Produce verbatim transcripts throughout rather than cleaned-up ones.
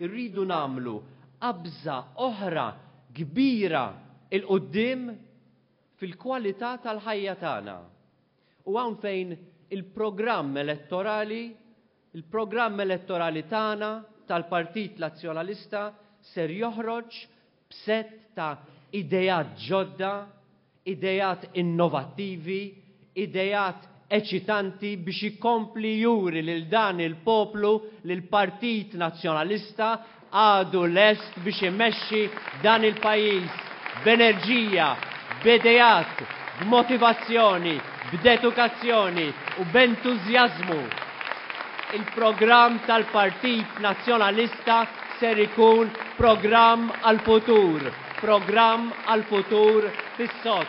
Irridu nagħmlu qabża oħra kbira 'l quddiem fil-kwalità tal-ħajja tagħna. U hawn fejn il-programm elettorali, il-programm elettorali tagħna tal-Partit Nazzjonalista ser joħroġ b'sett ta' ideat ġodda, ideat innovattivi, ideat eċitanti biex ikompli juri lil dan il-poplu li l-Partit Nazzjonalista għadu lest biex imexxi dan il-pajjiż b'enerġija, b'ideat, b'motivazzjoni, b'dedukazzjoni u b'entużjażmu. Il-programm tal-Partit Nazzjonalista ser ikun programm għal-futur, programm għal-futur fis-sod.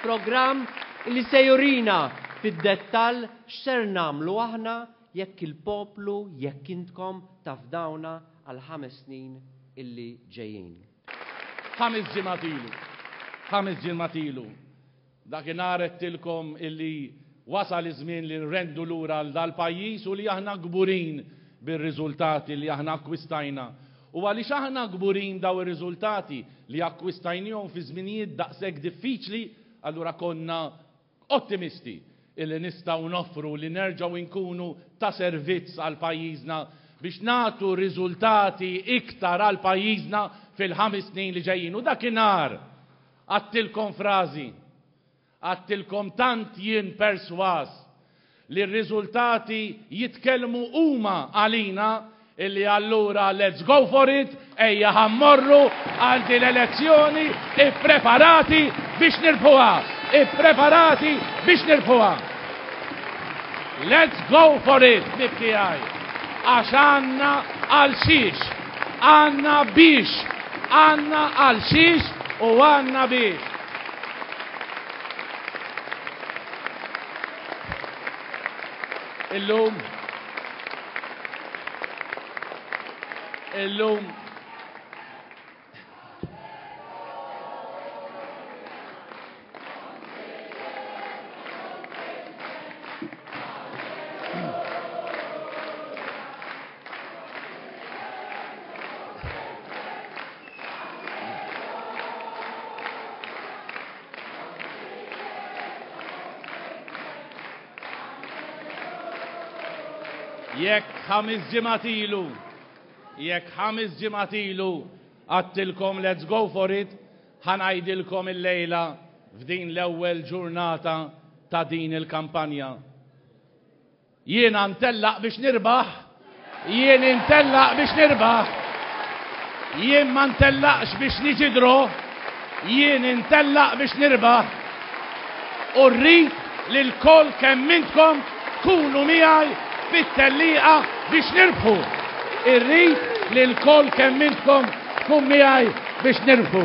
Programm li se jurina fid-dettall x'ser nagħmlu aħna jekk il-poplu, jekk intkom tafdawna għal ħames snin illi ġejjin. Ħames ġimgħat ilu, ħames ġimgħat ilu, dakinhar għedtilkom illi wasal iż-żmien li nrendu lura għal dal-pajjiż u li aħna kburin bir-riżultati li aħna akkwistajna. U għaliex aħna kburin daw ir-riżultati li akkwistajnihom fi żminijiet daqshekk diffiċli, allura konna ottimisti illi nistgħu noffru li nerġgħu nkunu ta' servizz għal pajjiżna biex nagħtu riżultati iktar għal pajjiżna fil-ħames snin li ġejjin. U dakinhar għedtilkom frażi, għedtilkom tant jien perswas li r-riżultati jitkellmu huma għalina illi allura let's go for it, ejja ħa mmorru għal din l-elezzjoni ippreparati biex nirbħuha, ippreparati biex nirbħuha. Let's go for it, ħbieb tiegħi. Għax għandna għal xiex, għandna biex, għandna għal xiex u għandna biex. Illum, illum, Jekk ħames ġimgħat ilu, jekk ħames ġimgħat ilu għedtilkom let's go for it, ħa ngħidilkom illejla f'din l-ewwel ġurnata ta' din il-kampanja. Jiena ntellaq biex nirbaħ, jien intellaq biex nirbaħ, jien ma ntellaqx biex niġi draw, jien intellaq biex nirbaħ. U rrid li lkoll kemm intkom tkunu miegħi fit-tellieqa biex nirbħu. Irrid li lkoll kemm intkom tkun miegħi biex nirbħu.